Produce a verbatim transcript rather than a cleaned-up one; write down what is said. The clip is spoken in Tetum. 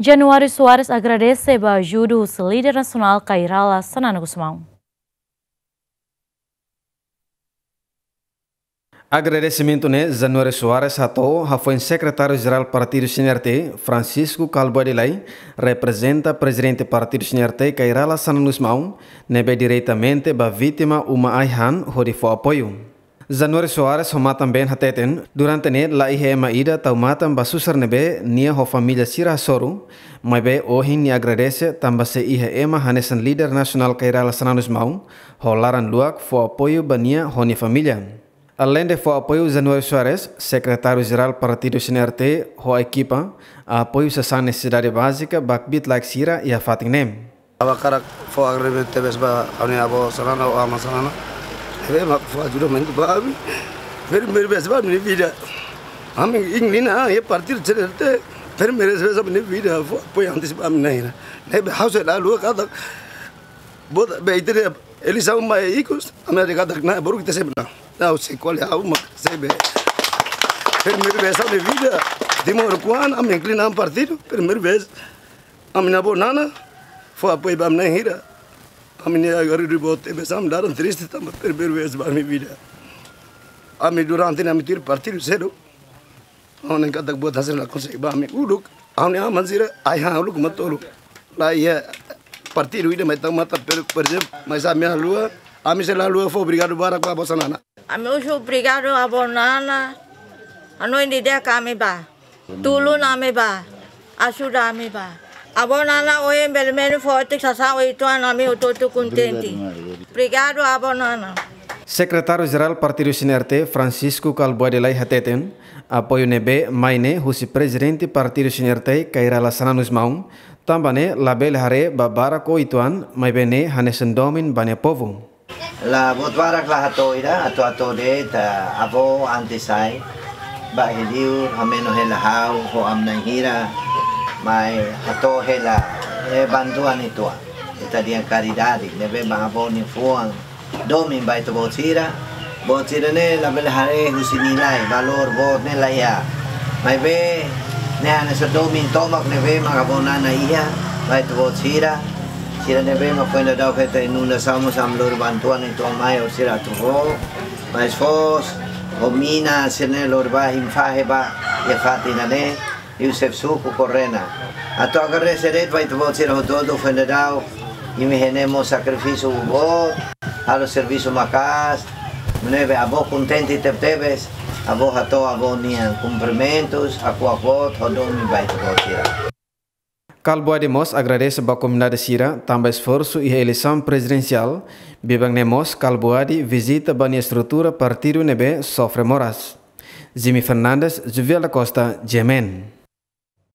Januário Soares agradese ba ajuda husi líder nasionál Kay Rala Xanana Gusmão. Agradesimentu ne'e Januário Soares hato'o hafoin Sekretáriu Jerál Partidu C N R T, Francisco Kal Boadi Lay, reprezenta Prezidente Partidu C N R T, Kay Rala Xanana Gusmão, ne'ebé diretamente ba vítima uma ai-han hodi fó apoiu. Januário Soares ho matan-been hateten, durante ne'e la iha ema ida tau matan ba susar ne'ebé nia ho família sira hasoru, maibé ohin nia agradese tanba sei iha ema hanesan líder nasionál Kay Rala Xanana Gusmão, ho laran luak fó apoiu ba nia ho nia família. Aleinde fó apoiu, Januário Soares, Sekretáriu Jerál Partidu C N R T, ho ekipa, apoiu sasán nesesidade bázika ba kbiit-laek sira iha fatin ne'e. Ha'u hakarak fó agradesimentu tebes ba ha'u-nia avó Xanana, ou amá Xanana. Ne'ebé mak fó ajudamentu ba ami. Primeiru vez ba ami-nia vida. Ami ingin na, iha partidu C N R T. Primeiru vez ami-nia vida fó apoiu antes ba ami-nia ira. Ne'ebé ha'u sei la haluha katak, bota, be, ita-nia eleisaun mai ikus, ami hakarak katak na, baru ita sei menang. Ha'u sei ko'alia, ha'u mak sei be. Primeiru vez ami-nia vida, Timor kuan, ami ingin na partidu, primeiru vez. Ami-nia avó Nana fó apoiu ba ami-nia ira. Ami-nia agora de bote, be, ami laran triste tanba primeiru vez ba ami-nia vida. Ami durante ne'e ami tuir partidu sedu. Ha'u hanoin katak buat hanesan ne'e la konsege ba ami uluk. Ha'u-nia aman sira, ai-han uluk mak tolu. La iha partidu ida mai tau matan, per, por ezemplu, mas ami haluha, ami sei la haluha fó obrigadu barak ba avó Xanana. Ami husu obrigadu avó Nana, hanoin didi'ak ami ba. Tulun ami ba. Ajuda ami ba. Avó Nana ohin bele menos forte sasán oituan, ami hotu-hotu kontente. Obrigadu avó Nana. Sekretáriu Jerál Partidu C N R T, Francisco Kal Boadi Lay hateten, apoiu ne'ebé mai ne'e husi Prezidente Partidu C N R T, Kay Rala Xanana Gusmão, tanba ne'e labele haree ba barak oituan, maibé ne'e hanesan domin ba nia povu. La buat barak la hato'o ida, atu hato'o de'it, ah, avó antes sai, ba heliu, hameno hela ha'u, ho ami-nia ira, mai hato'o hela, eh, bantuan ituan. Ita dehan karidade, ne'ebé mak avó nia fuan, domin ba ita-boot sira, boot sira ne'e labele haree husi nilai, valór boot ne'e la iha. Maibé, ne'e hanesan domin tomak ne'ebé mak avó Nana iha, ba ita-boot sira, sira ne'ebé mak foin daudaun hetan inundasaun mós ami lori bantuan ituan mai, ou sira atu fó, mas foos, ou mina, sira ne'e lori ba, himi fahe ba, iha fatin ida-ne'e, Yusuf Suku Korena. Atu agradese de'it ba ita-boot sira hotu-hotu foin daudaun, imi iha ne'e mós sakrifísiu boot, halo servisu maka'as, ne'ebé avó kontente tebetebes, avó hato'o avó nian kumprimentus, hakuak boot, ho domin ba ita-boot sira. Kal Boadi mós agradese ba komunidade sira, tanba esforsu iha eleisaun prezidensiál, biban ne'e mós Kal Boadi vizita ba nia estrutura partidu ne'ebé sofre moras. Jimmy Fernandes, Juvial da Costa, G M N.